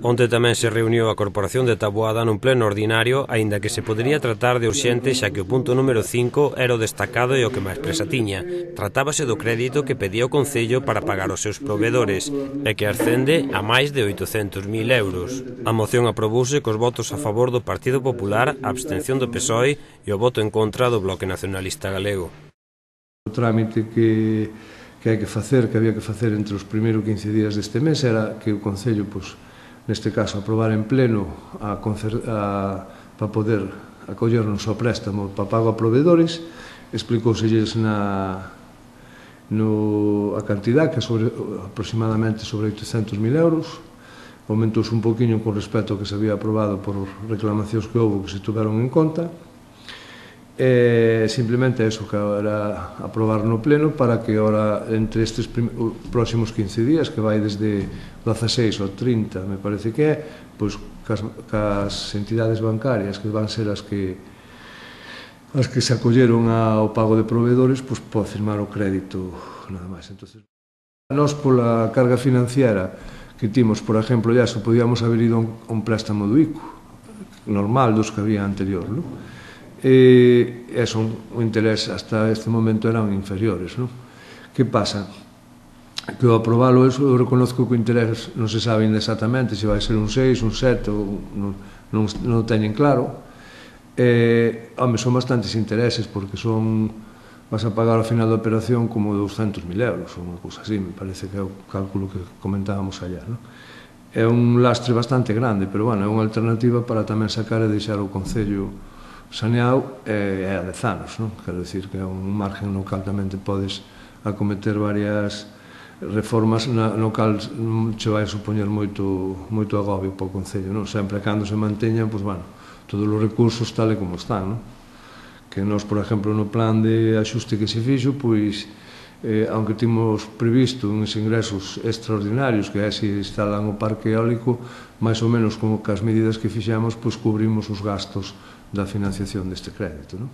Onte tamén se reuniu a Corporación de Taboada nun pleno ordinario, aínda que se podería tratar de urxente xa que o punto número 5 era o destacado e o que máis presa tiña. Tratábase do crédito que pedía o Concello para pagar os seus provedores e que ascende a máis de 800.000 euros. A moción aprobouse cos votos a favor do Partido Popular, a abstención do PSOE e o voto en contra do Bloque Nacionalista Galego. O trámite que había que facer entre os primeiros 15 días deste mes era que o Concello, neste caso, aprobar en pleno para poder acollernos ao préstamo para pago a provedores. Explicóuselles a cantidad, que é aproximadamente sobre 800.000 euros. Aumentouse un poquinho con respecto ao que se había aprobado por reclamacións que houve que se tuveron en conta. Simplemente eso, que era aprobar no pleno para que ahora entre estes próximos 15 días, que vai desde 16 ao 30, me parece que é, cas entidades bancarias que van ser as que se acolleron ao pago de provedores, pode firmar o crédito nada máis. Nós, pola carga financiera que timos, por exemplo, ya se podíamos haber ido a un préstamo do ICO normal dos que había anterior, non? E o interés hasta este momento eran inferiores, non? Que pasa? Que ao aprobalo eu reconozco que o interés non se sabe exactamente se vai ser un 6, un 7, non o teñen claro. Son bastantes intereses porque vas a pagar ao final da operación como 200.000 euros ou unha cousa así, me parece que é o cálculo que comentábamos allá, non? É un lastre bastante grande, pero é unha alternativa para tamén sacar e deixar o Concello saneado a 10 anos, non? Quero dicir que é un margen no cal tamén te podes acometer varias reformas no cal che vai supoñer moito agobio para o Concello, non? Sempre cando se manteñan, todos os recursos tal e como están, non? Que nós, por exemplo, no plan de axuste que se fixo, aunque timos previsto uns ingresos extraordinarios, que é se instalan o parque eólico, máis ou menos con as medidas que fixemos, cubrimos os gastos da financiación deste crédito, non?